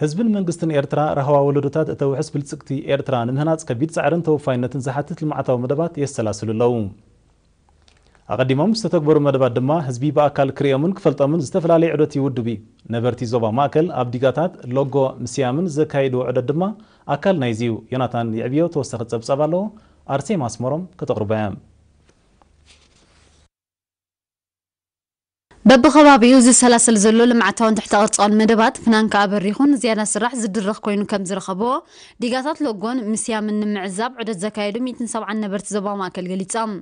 ህዝብን መንግስትን ኤርትራ ራህዋ ወለዶታት እተውሕስ ብልጽግቲ ኤርትራ ንምህናጽ ከቢድ ጻዕርን ተወፋይነትን ዝሓትት ልምዓታዊ መደባት የሰላስሉ ኣለዉ። ኣቐዲሞም ዝተተግበሩ መደባት ድማ ህዝቢ ብኣካል ክርእዮምን ክፈልጦምን ዝተፈላለየ ዑደት ይውድብ እዩ። ነበርቲ ዞባ ማእከል ኣብ ዲጋታት ሎጎ ምስያምን ዘካየድዎ ዑደት ድማ ኣካል ናይዚ እዩ። ዮናታን የዕብዮ ተወሳኺ ጸብጻብ ኣለዎ። ኣርሴማ ኣስመሮም ከተቕርቦ እያ። በብኸባቢኡ ዝሰላሰል ዘሎ ልምዓታውን ትሕተ ቅርጻውን መደባት ፍናን ከኣ በሪኹ ንዝያዳ ስራሕ ዝድርኽ ኮይኑ ከም ዝረኸቦ ዲጋታት ሎጎን ምስያምን ንምዕዛብ ዑደት ዘካየዱ ሚእትን ሰብዓን ነበርቲ ዞባ ማእከል ገሊጾም።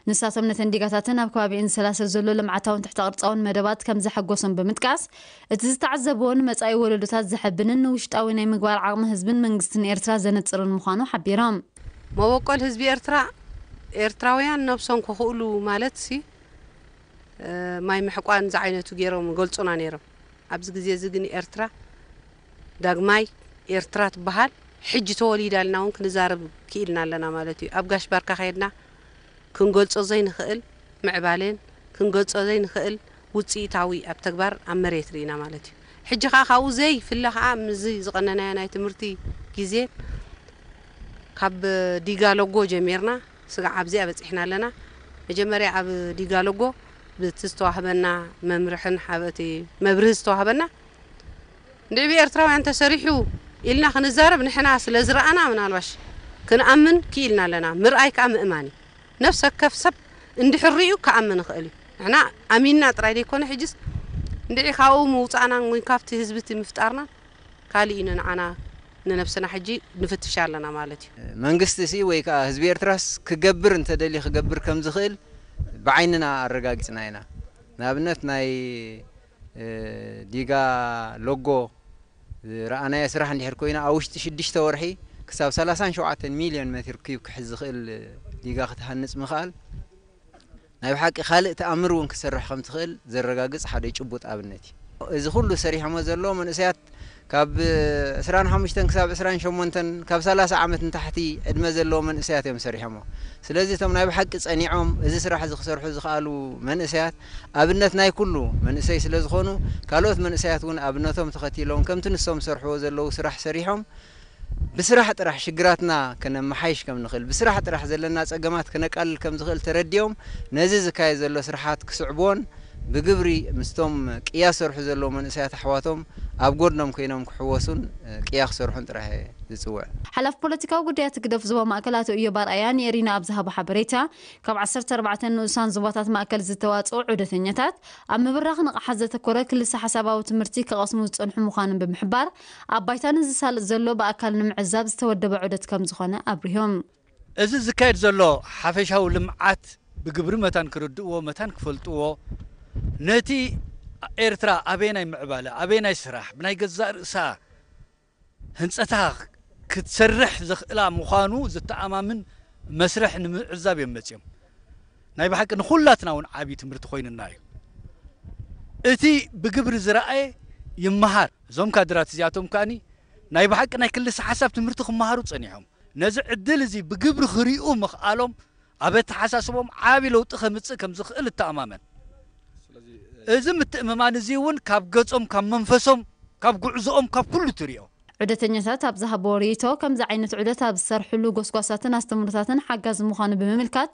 ንሳቶም ነተን ዲጋታትን ኣብ ከባቢኡን ዝሰላሰል ዘሎ ልምዓታውን ትሕተ ቅርጻውን መደባት ከም ዘሐጎሶም ብምጥቃስ፣ እቲ ዝተዓዘብዎ ንመጻኢ ወለዶታት ዘሐብንን ንውሽጣዊ ናይ ምግባር ዓቕሚ ህዝብን መንግስትን ኤርትራ ዘነጽርን ምዃኑ ሓቢሮም። መበቆል ህዝቢ ኤርትራ፣ ኤርትራውያን ነብሶም ክኽእሉ ማለት ሲ፣ እ፣ ማይ ምሕቋን ዝዓይነቱ ገይሮም ይገልጹና ነይሮም። ኣብዚ ግዜ እዚ ግን ኤርትራ ዳግማይ ኤርትራ ትበሃል። ሕጂ ተወሊዳ ኢልና እውን ክንዛረብ ክኢልና ኣለና ማለት እዩ። ኣብ ጋሽ ባርካ ከይድና ክንገልጾ ዘይንኽእል ምዕባሌን ክንገልጾ ዘይንኽእል ውጽኢታዊ ኣብ ተግባር ኣብ መሬት ርኢና ማለት እዩ። ሕጂ ከኣ ካብኡ ዘይፍለ ከኣ ምስዚ ዝቐነናዮ ናይ ትምህርቲ ግዜ ካብ ዲጋ ሎጎ ጀሚርና ስጋዕ ኣብዚኣ በጺሕና ኣለና። መጀመርያ ኣብ ዲጋ ሎጎ ብቲ ዝተዋህበና መምርሕን ሓበቲ መብርሂ ዝተዋህበና እንድዒ ብኤርትራውያን ተሰሪሑ ኢልና ክንዛረብ ንሕና ስለ ዝረኣና ምናልባሽ ክንኣምን ክኢልና ኣለና። ምርኣይ ከኣ ምእማን እዩ። ነፍሰ ከፍ ሰብ እንድሕር ርእዩ ክኣምን ይኽእል እዩ። ንሕና ኣሚንና ጥራይ ዘይኮነ ሕጅስ እንድዒ ካብኡ ምውጻእናን ወይ ካብቲ ህዝቢ እቲ ምፍጣርናን ካልእ እዩ ንዓና ንነብስና ሕጂ ንፍትሽ ኣለና ማለት እዩ። መንግስቲ ሲ ወይ ከዓ ህዝቢ ኤርትራስ ክገብር እንተደልዩ ክገብር ከም ዝኽእል ብዓይንና ኣረጋጊጽና ኢና። ንኣብነት ናይ፣ እ፣ ዲጋ ሎጎ ዝረኣናዮ ስራሕ እንድሕር ኮይና ኣብ ውሽጢ ሽዱሽተ ወርሒ ክሳብ ሰላሳን ሸውዓተን ሚልዮን ሜትር ኪዩብ ክሕዝ ዝኽእል ዲጋ ክትሃንጽ ምኽኣል ናይ ብሓቂ ካልእ ተኣምር እውን ክሰርሕ ከም ትኽእል ዘረጋግጽ ሓደ ጭቡጥ ኣብነት እዩ። እዚ ኩሉ ሰሪሖሞ ዘለዉ መንእሰያት ካብ ዕስራን ሓሙሽተን ክሳብ ዕስራን ሸሞንተን፣ ካብ ሰላሳ ዓመት ንታሕቲ ዕድመ ዘለዉ መንእሰያት እዮም ሰሪሖሞ። ስለዚ እቶም ናይ ብሓቂ ጸኒዖም እዚ ስራሕ እዚ ክሰርሑ ዝኽኣሉ መንእሰያት ኣብነት ናይ ኩሉ መንእሰይ ስለ ዝኾኑ፣ ካልኦት መንእሰያት እውን ኣብነቶም ተኸቲሎም ከምቲ ንሶም ዝሰርሕዎ ዘለዉ ስራሕ ሰሪሖም ብስራሕ ጥራሕ ሽግራትና ከነመሓይሽ ከም ንኽእል፣ ብስራሕ ጥራሕ ዘለና ጸገማት ከነቃልል ከም ዝኽእል ተረዲኦም፣ ነዚ ዝካየድ ዘሎ ስራሓት ክስዕብዎን ብግብሪ ምስቶም ቅያ ዝሰርሑ ዘለዉ መንእሰያት ኣሕዋቶም ኣብ ጎድኖም ኮይኖም ክሕወሱን ቅያ ክሰርሑን ጥራሕ እየ ዝጽውዕ። ሓላፊ ፖለቲካዊ ጉዳያት ህግደፍ ዞባ ማእከል ኣቶ እዮብ ኣርኣያ ንኤሪና ኣብ ዝሃቦ ሓበሬታ፣ ካብ ዓሰርተ ኣርባዕተ ንኡሳን ዞባታት ማእከል ዝተዋጽኡ ዑደተኛታት፣ ኣብ ምብራኽ ንቕሓት ዘተኮረ ክልሰ ሓሳባዊ ትምህርቲ ክቐስሙ ዝጸንሑ ምዃኖም ብምሕባር፣ ኣብ ባይታ ንዝሳለጥ ዘሎ ብኣካል ንምዕዛብ ዝተወደበ ዑደት ከም ዝኾነ ኣብሪሆም። እዚ ዝካየድ ዘሎ ሓፈሻዊ ልምዓት ብግብሪ መታን ክርድእዎ፣ መታን ክፈልጥዎ፣ ነቲ ኤርትራ ኣበየናይ ምዕባለ፣ ኣበየናይ ስራሕ፣ ብናይ ገዛእ ርእሳ ህንጸታ ክትሰርሕ ዘኽእላ ምዃኑ ዘተኣማምን መስርሕ ንምዕዛብ እዮም መጺኦም። ናይ ብሓቂ ንኹላትና እውን ዓቢ ትምህርቲ ኮይኑና እዩ። እቲ ብግብሪ ዝረኣየ ይመሃር። እዞም ካድራት እዚኣቶም ከኣኒ ናይ ብሓቂ ናይ ክልሰ ሓሳብ ትምህርቲ ክመሃሩ ጸኒሖም። ነዚ ዕድል እዚ ብግብሪ ክሪኡ ምኽኣሎም ኣብ ኣተሓሳስቦም ዓቢ ለውጢ ከምጽእ ከም ዝኽእል እተኣማመን። እዚ ምትእምማን እዚ እውን ካብ ገጾም፣ ካብ መንፈሶም፣ ካብ ጉዕዞኦም፣ ካብ ኩሉ ትሪኦ። ዑደተኛታት ኣብ ዝሃብዎ ርእይቶ፣ ከምዚ ዓይነት ዑደት ኣብ ዝሰርሕሉ ጎስጓሳትን ኣስተምህሮታትን ሓጋዚ ምዃኑ ብምምልካት፣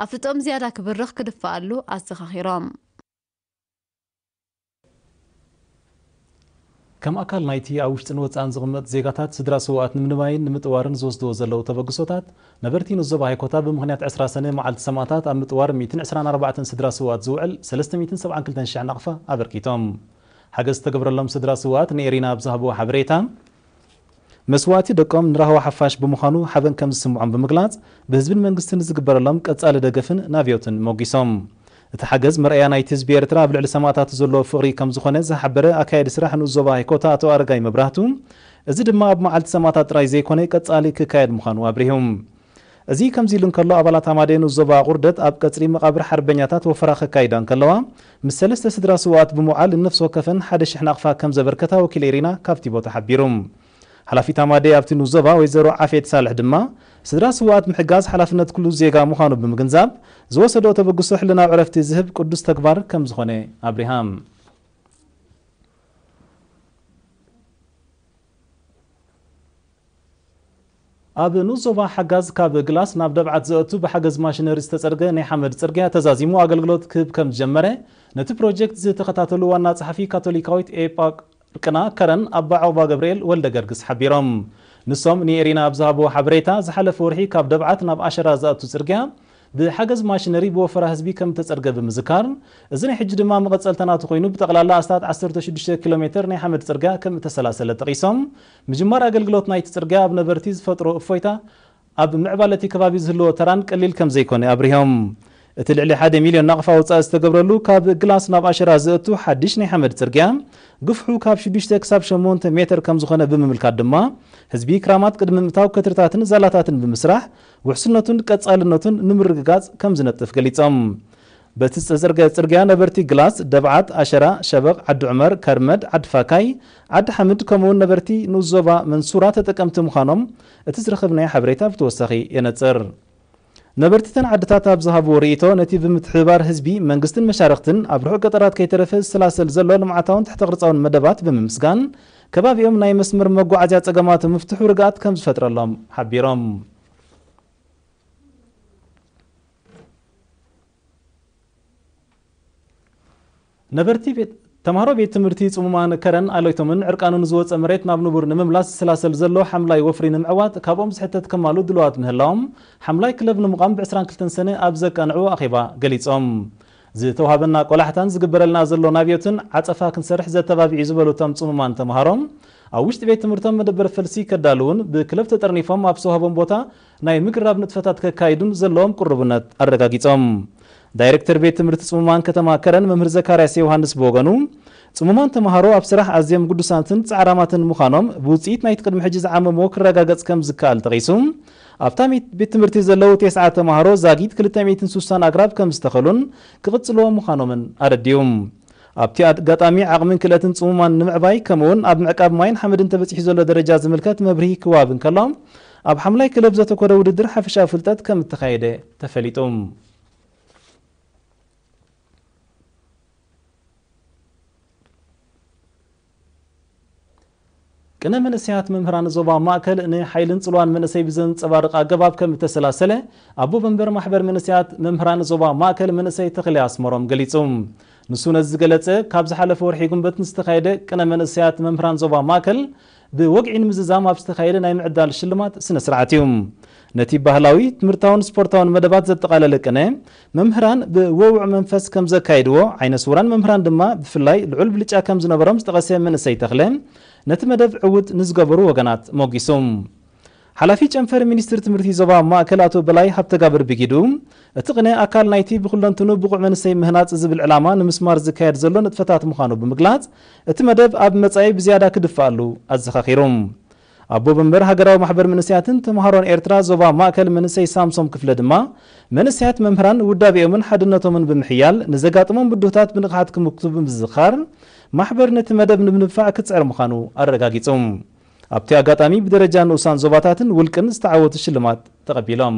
ኣፍልጦኦም ዝያዳ ክብርኽ ክድፈኣሉ ኣዘኻኺሮም። ከም ኣካል ናይቲ ኣብ ውሽጥን ወጻእን ዝቕመጥ ዜጋታት ስድራ ስውኣት ንምንባይን ንምጥዋርን ዝወስድዎ ዘለዉ ተበግሶታት፣ ነበርቲ ንዞባ ሃይኮታ ብምኽንያት ዕስራ ሰነ መዓልቲ ሰማእታት ኣብ ምጥዋር ሚእትን ዕስራን ኣርባዕተን ስድራ ስውኣት ዝውዕል ሰለስተ ሚእትን ሰብዓን ክልተን ሽሕ ናቕፋ ኣበርኪቶም። ሓገዝ ዝተገብረሎም ስድራ ስውኣት ንኤሪና ኣብ ዝሃብዎ ሓበሬታ፣ መስዋእቲ ደቆም ንራህዋ ሓፋሽ ብምዃኑ ሓበን ከም ዝስምዖም ብምግላጽ፣ ብህዝብን መንግስትን ዝግበረሎም ቀጻሊ ደገፍን ናብዮትን ሞጊሶም። እቲ ሓገዝ መርኣያ ናይቲ ህዝቢ ኤርትራ ኣብ ልዕሊ ሰማእታቱ ዘለዎ ፍቕሪ ከም ዝኾነ ዝሓበረ ኣካያዲ ስራሕ ንኡስ ዞባ ሃይኮታ ኣቶ ኣረጋይ መብራህቱ፣ እዚ ድማ ኣብ መዓልቲ ሰማእታት ጥራይ ዘይኮነ ቀጻሊ ክካየድ ምዃኑ ኣብሪሁ። እዚ ከምዚ ኢሉ እንከሎ፣ ኣባላት ሃማደኤ ንኡስ ዞባ ኣቑርደት ኣብ ቀጽሪ መቓብር ሓርበኛታት ወፈራ ከካይዳ እንከለዋ፣ ምስ ሰለስተ ስድራ ስውኣት ብምውዓል ንነፍሲ ወከፈን ሓደ ሽሕ ናቕፋ ከም ዘበርከታ ወኪል ኤሪና ካብቲ ቦታ ሓቢሩ። ሓላፊት ሃማደኤ ኣብቲ ንኡስ ዞባ ወይዘሮ ዓፌት ሳልሕ ድማ፣ ስድራ ስውኣት ምሕጋዝ ሓላፍነት ኩሉ ዜጋ ምዃኑ ብምግንዛብ፣ ዝወሰድኦ ተበግሶ ሕልናዊ ዕረፍቲ ዝህብ ቅዱስ ተግባር ከም ዝኾነ ኣብሪሃ። ኣብ ንኡስ ዞባ ሓጋዝ ካብ ግላስ ናብ ደብዓት ዘእቱ ብሓገዝ ማሽነሪ ዝተጸርገ ናይ ሓመድ ጽርግያ ተዛዚሙ ኣገልግሎት ክህብ ከም ዝጀመረ ነቲ ፕሮጀክት ዝተኸታተሉ ዋና ጸሓፊ ካቶሊካዊት ኤጳርቅና ከረን ኣባ ዖቕባ ገብርኤል ወልደ ገርግስ ሓቢሮም። ንሶም ንኤሪና ኣብ ዝሃብዎ ሓበሬታ፣ ዝሓለፈ ወርሒ ካብ ደብዓት ናብ ኣሸራ ዘእቱ ጽርግያ ብሓገዝ ማሽነሪ ብወፈራ ህዝቢ ከም እተጸርገ ብምዝካር፣ እዚ ናይ ሕጂ ድማ መቐጸልታ ናቱ ኮይኑ ብጠቕላላ ኣስታት ዓሰርተ ሽዱሽተ ኪሎ ሜተር ናይ ሓመድ ጽርግያ ከም እተሰላሰለ ጠቒሶም፣ ምጅማር ኣገልግሎት ናይቲ ጽርግያ ኣብ ነበርቲ ዝፈጥሮ እፎይታ ኣብ ምዕባለ እቲ ከባቢ ዝህልዎ ተራን ቀሊል ከም ዘይኮነ ኣብሪሆም። እቲ ልዕሊ ሓደ ሚልዮን ናቕፋ ወጻኢ ዝተገብረሉ ካብ ግላስ ናብ ኣሸራ ዘእቱ ሓድሽ ናይ ሓመድ ጽርግያ ግፍሑ ካብ ሽዱሽተ ክሳብ ሸሞንተ ሜተር ከም ዝኾነ ብምምልካት ድማ፣ ህዝቢ ክራማት ቅድሚ ምእታው ከትርታትን ዛላታትን ብምስራሕ ውሕስነቱን ቀጻልነቱን ንምርግጋጽ ከም ዝነጥፍ ገሊጾም። በቲ ዝተዘርገ ጽርግያ ነበርቲ ግላስ፣ ደብዓት፣ ኣሸራ፣ ሸበቕ፣ ዓዲ ዑመር፣ ከርመድ፣ ዓዲ ፋካይ፣ ዓዲ ሓምድ ከምኡውን ነበርቲ ንኡስ ዞባ መንሱራ ተጠቀምቲ ምዃኖም እቲ ዝረኸብናዮ ሓበሬታ ብተወሳኺ የነጽር። ነበርቲ እተን ዓድታት ኣብ ዝሃብዎ ርእይቶ፣ ነቲ ብምትሕብባር ህዝቢ፣ መንግስትን መሻርኽትን ኣብ ርሑቕ ገጠራት ከይተረፈ ዝሰላሰል ዘሎ ልምዓታውን ትሕተ ቅርጻውን መደባት ብምምስጋን፣ ከባቢኦም ናይ መስመር መጓዓዝያ ጸገማት ምፍትሑ ርግኣት ከም ዝፈጥረሎም ሓቢሮም። ነበርቲ ቤት ተምሃሮ ቤት ትምህርቲ ጽሙማን ከረን ኣሎይቶምን ዕርቃኑ ንዝወጸ መሬት ናብ ንቡር ንምምላስ ዝሰላሰል ዘሎ ሓምላይ ወፍሪ ንምዕዋት ካብኦም ዝሕተት ከማሉ ድልዋት ምህላዎም ሓምላይ ክለብ ንምቋም ብ ዕስራን ክልተን ሰነ ኣብ ዘቃንዕዎ ኣኼባ ገሊጾም። ዝተዋህበና ቆላሕታን ዝግበረልና ዘሎ ናብዮትን ዓጸፋ ክንሰርሕ ዘተባብዕ እዩ ዝበሉ እቶም ጽሙማን ተምሃሮ፣ ኣብ ውሽጢ ቤት ትምህርቶም መደበር ፈልሲ ከዳልውን ብክለብ ተጠርኒፎም ኣብ ዝተዋህቦም ቦታ ናይ ምግራብ ንጥፈታት ከካይዱን ዘለዎም ቅሩብነት ኣረጋጊጾም። ዳይሬክተር ቤት ትምህርቲ ጽሙማን ከተማ ከረን መምህር ዘካርያስ ዮሃንስ ብወገኑ፣ ጽሙማን ተምሃሮ ኣብ ስራሕ ኣዝዮም ግዱሳትን ጻዕራማትን ምዃኖም ብውጽኢት ናይቲ ቅድሚ ሕጂ ዝዓመምዎ ክረጋገጽ ከም ዝከኣል ጠቒሱ፣ ኣብታ ቤት ትምህርቲ ዘለዉ ተስዓ ተምሃሮ ዛጊት ክልተ ሚእትን ስሳን ኣግራብ ከም ዝተኸሉን ክቕጽልዎ ምዃኖምን ኣረዲኡ። ኣብቲ ኣጋጣሚ ዓቕምን ክእለትን ጽሙማን ንምዕባይ ከምኡውን ኣብ ምዕቃብ ማይን ሓመድን ተበጺሑ ዘሎ ደረጃ ዝምልከት መብርሂ ክወሃብ እንከሎ፣ ኣብ ሓምላይ ክለብ ዘተኮረ ውድድር ሓፈሻዊ ፍልጠት ከም እተኻየደ ተፈሊጡ። ቅነ መንእሰያት መምህራን ዞባ ማእከል ንሓይልን ጽልዋን መንእሰይ ብዘንጸባርቕ ኣገባብ ከም እተሰላሰለ ኣቦ መንበር ማሕበር መንእሰያት መምህራን ዞባ ማእከል መንእሰይ ተኽለ ኣስመሮም ገሊጹ። ንሱ ነዚ ዝገለጸ ካብ ዝሓለፈ ወርሒ ጉንበት ንዝተኻየደ ቅነ መንእሰያት መምህራን ዞባ ማእከል ብወግዒ ንምዝዛም ኣብ ዝተኻየደ ናይ ምዕዳል ሽልማት ስነ ስርዓት እዩ። ነቲ ባህላዊ፣ ትምህርታውን ስፖርታውን መደባት ዘጠቓለለ ቅነ፣ መምህራን ብወውዕ መንፈስ ከም ዘካየድዎ፣ ዓይነ ስውራን መምህራን ድማ ብፍላይ ልዑል ብልጫ ከም ዝነበሮም ዝጠቐሰ መንእሰይ ተኽለ፣ ነቲ መደብ ዕዉት ንዝገበሩ ወገናት ሞጊሱ። ሓላፊ ጨንፈር ሚኒስትሪ ትምህርቲ ዞባ ማእከል ኣቶ በላይ ሃብተጋብር ብጊዱ፣ እቲ ቅነ ኣካል ናይቲ ብኩለንትኑ ብቑዕ መንእሰይ ምህናጽ ዝብል ዕላማ ንምስማር ዝካየድ ዘሎ ንጥፈታት ምዃኑ ብምግላጽ፣ እቲ መደብ ኣብ መጻኢ ብዝያዳ ክድፋኣሉ ኣዘኻኺሩ። ኣቦ መንበር ሃገራዊ ማሕበር መንእሰያትን ተምሃሮን ኤርትራ ዞባ ማእከል መንእሰይ ሳምሶም ክፍለ ድማ፣ መንእሰያት መምህራን ውዳቤኦምን ሓድነቶምን ብምሕያል ንዘጋጥሞም ብድሆታት ብንቕሓት ክምክቱ ብምዝኻር፣ ማሕበር ነቲ መደብ ንምድንፋዕ ክጽዕር ምዃኑ ኣረጋጊጹ። ኣብቲ ኣጋጣሚ ብደረጃ ንኡሳን ዞባታትን ውልቅን ዝተዓወቱ ሽልማት ተቐቢሎም።